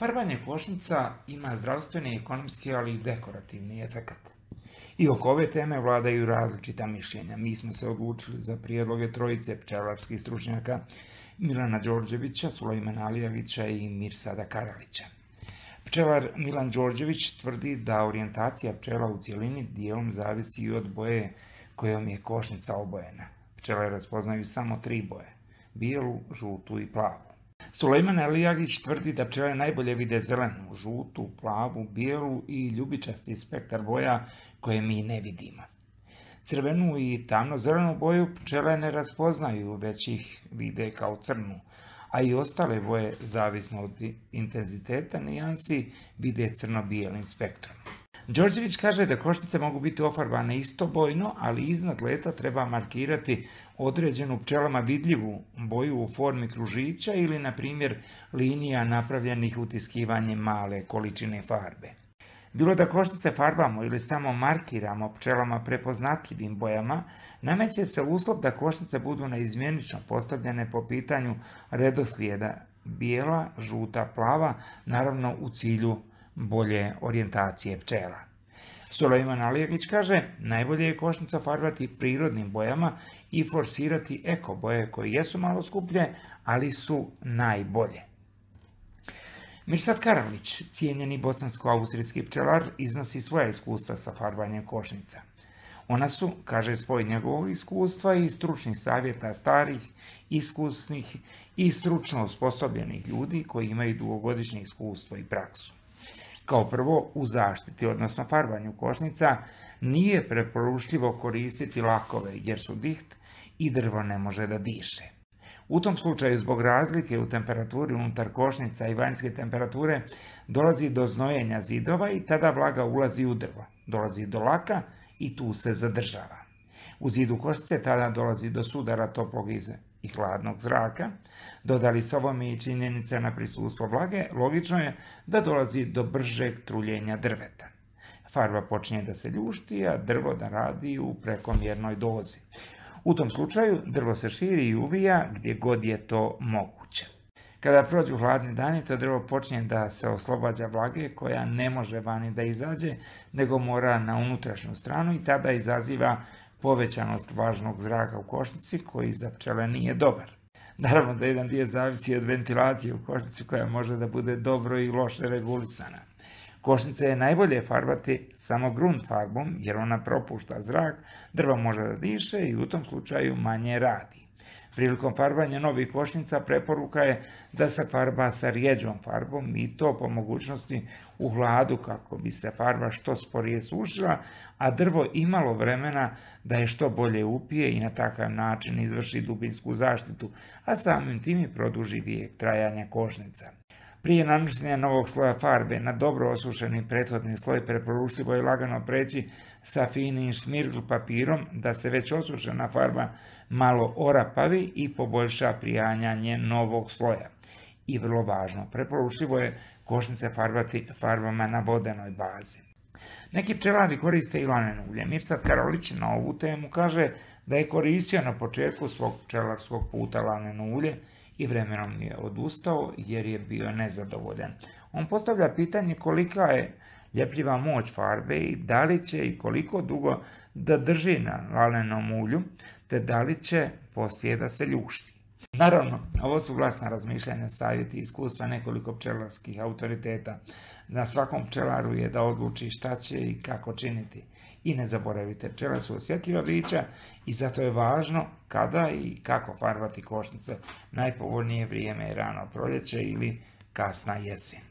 Farbanje košnica ima zdravstveni, ekonomski, ali i dekorativni efekat. I oko ove teme vladaju različita mišljenja. Mi smo se odlučili za prijedloge trojice pčelarskih stručnjaka Milana Đorđevića, Sulejmana Alijagića i Mirsada Karalića. Pčelar Milan Đorđević tvrdi da orijentacija pčela u cjelini dijelom zavisi i od boje kojom je košnica obojena. Pčele raspoznaju samo 3 boje: bijelu, žutu i plavu. Sulejman Alijagić tvrdi da pčele najbolje vide zelenu, žutu, plavu, bijelu i ljubičasti spektar boja koje mi ne vidimo. Crvenu i tamno-zelenu boju pčele ne raspoznaju, već ih vide kao crnu, a i ostale boje, zavisno od intenziteta nijansi, vide crno-bijelim spektrom. Đorđević kaže da košnice mogu biti ofarbane istobojno, ali iznad leta treba markirati određenu pčelama vidljivu boju u formi kružića ili, na primjer, linija napravljenih utiskivanjem male količine farbe. Bilo da košnice farbamo ili samo markiramo pčelama prepoznatljivim bojama, nameće se uslov da košnice budu neizmjenično postavljene po pitanju redoslijeda bijela, žuta, plava, naravno u cilju bolje orijentacije pčela. Sulejman Alijagić kaže, najbolje je košnicu farbati prirodnim bojama i forsirati eko boje koje jesu malo skuplje, ali su najbolje. Mirsad Karalić, cijenjeni bosansko-austrijski pčelar, iznosi svoja iskustva sa farbanjem košnica. Ona su, kaže, spoj njegovog iskustva i stručnih savjeta starih, iskusnih i stručno osposobljenih ljudi koji imaju dugogodišnje iskustvo i praksu. Kao prvo, u zaštiti, odnosno farbanju košnica, nije preporučljivo koristiti lakove jer su diht i drvo ne može da diše. U tom slučaju, zbog razlike u temperaturi unutar košnica i vanjske temperature, dolazi do znojenja zidova i tada vlaga ulazi u drvo. Dolazi do laka i tu se zadržava. U zidu košnice tada dolazi do sudara toplog i hladnog zraka. Dodali s ovome i činjenica na prisustvo vlage, logično je da dolazi do bržeg truljenja drveta. Farba počinje da se ljušti, a drvo da radi u prekomjernoj dozi. U tom slučaju drvo se širi i uvija gdje god je to moguće. Kada prođu hladni dani, to drvo počinje da se oslobađa vlage koja ne može vani da izađe, nego mora na unutrašnju stranu i tada izaziva povećanost vlažnog zraka u košnici koji za pčele nije dobar. Naravno da jedan dio zavisi od ventilacije u košnici koja može da bude dobro i loše regulisana. Košnice je najbolje farbati samo grunt farbom jer ona propušta zrak, drvo može da diše i u tom slučaju manje radi. Prilikom farbanja novih košnica preporuka je da se farba sa rjeđom farbom i to po mogućnosti u hladu kako bi se farba što sporije sušila, a drvo imalo vremena da je što bolje upije i na takav način izvrši dubinsku zaštitu, a samim tim i produži vijek trajanja košnica. Prije nanošenja novog sloja farbe na dobro osušeni prethodni sloj preporučljivo je lagano preći sa finim šmirgl papirom da se već osušena farba malo orapavi i poboljša prijanjanje novog sloja. I vrlo važno, preporučljivo je košnice farbati farbama na vodenoj bazi. Neki pčelari koriste i laneno ulje. Mirsad Karalić na ovu temu kaže da je koristio na početku svog pčelarskog puta laneno ulje i vremenom je odustao jer je bio nezadovoljan. On postavlja pitanje kolika je ljepljiva moć farbe i da li će i koliko dugo da drži na lanenom ulju, te da li će poslije da se ljušti. Naravno, ovo su glasna razmišljanja, savjeti i iskustva nekoliko pčelarskih autoriteta. Na svakom pčelaru je da odluči šta će i kako činiti. I ne zaboravite, pčele su osjetljiva bića i zato je važno kada i kako farbati košnice. Najpovoljnije vrijeme je rano proljeće ili kasna jesen.